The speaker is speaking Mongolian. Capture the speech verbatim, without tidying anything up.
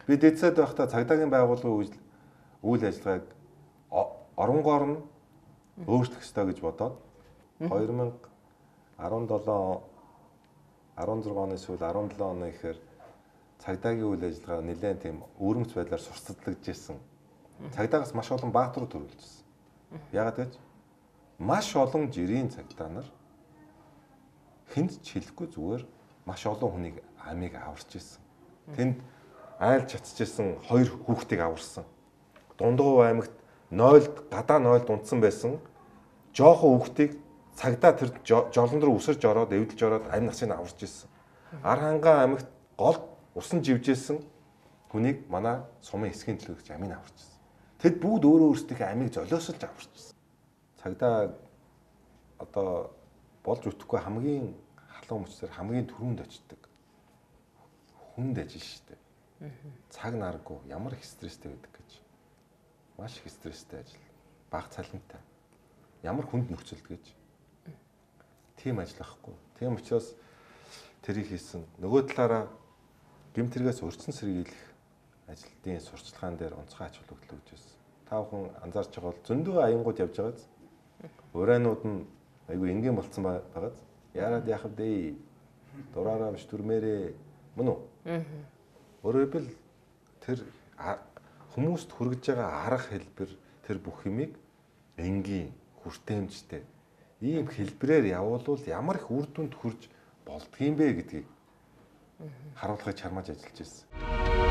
Би дэцэд байхдаа цагдаагийн байгууллагын үйл ажиллагааг оронгоор нь өөрчлөх ёстой гэж бодоод хоёр мянга арван долоо арван зурга оны сүүл арван долоо оны ихээр цагдаагийн үйл ажиллагаа нэлээд тийм өвөрмөц байдлаар сурталчилагдж ирсэн. Цагдаагаас маш олон баатарууд төрүүлжсэн. Яагаад гэж маш олон жирийн цагдаа нар хүнд ч хэлэхгүй зүгээр маш олон хүнийг амийг аварч ирсэн. Тэнд айлд чацчихсан хоёр хүүхдийг аварсан. Дундгов аймагт нойлд гадаа нойлд унтсан байсан жоохон хүүхдийг цагдаа тэр жолон руу үсэрж ороод эвдэлж ороод амь насыг аварч ирсэн. Ар хангаа аймагт голд усан живжсэн хүнийг манай сумын эсхийн төлөөлөгч амийг аварч ирсэн. Тэд бүгд өөрөө өөрсдийнхээ амийг золиосолж аварч ирсэн. Цагдаа одоо болж үтэхгүй хамгийн халуун мөчтөр хамгийн түрүүнд очдог. Хүнд ажил шүү дээ. Цаг наргүй ямар их стресстэй байдаг гэж. Маш их стресстэй ажил. Бага цалинтай. Ямар хүнд нөхцөлд гэж. Тийм ажил ахгүй. Тийм учраас тэрийг хийсэн. Нөгөө талаараа гэмтэргээс өрцөн сэргийлэх ажилтны сурчлагаан дээр онцгой ач холбогдол өгч байсан. Та бүхэн анзаарч байгаа бол зөндөө аянгууд явж байгааз. Урайнууд нь айгүй энгийн болцсон байгааз. Яарад яах вэ? Дураараа биш дүрмээрээ мөн үү? Өөрөөр хэлбэл тэр хүмүүст хүргэж байгаа арга хэлбэр тэр бүх юмыг энгийн хүртээмжтэй ийм хэлбэрээр явуулвал ямар их үр дүнд хүрж болдгийм бэ гэдгийг харуулахыг чармааж ажиллаж байсан.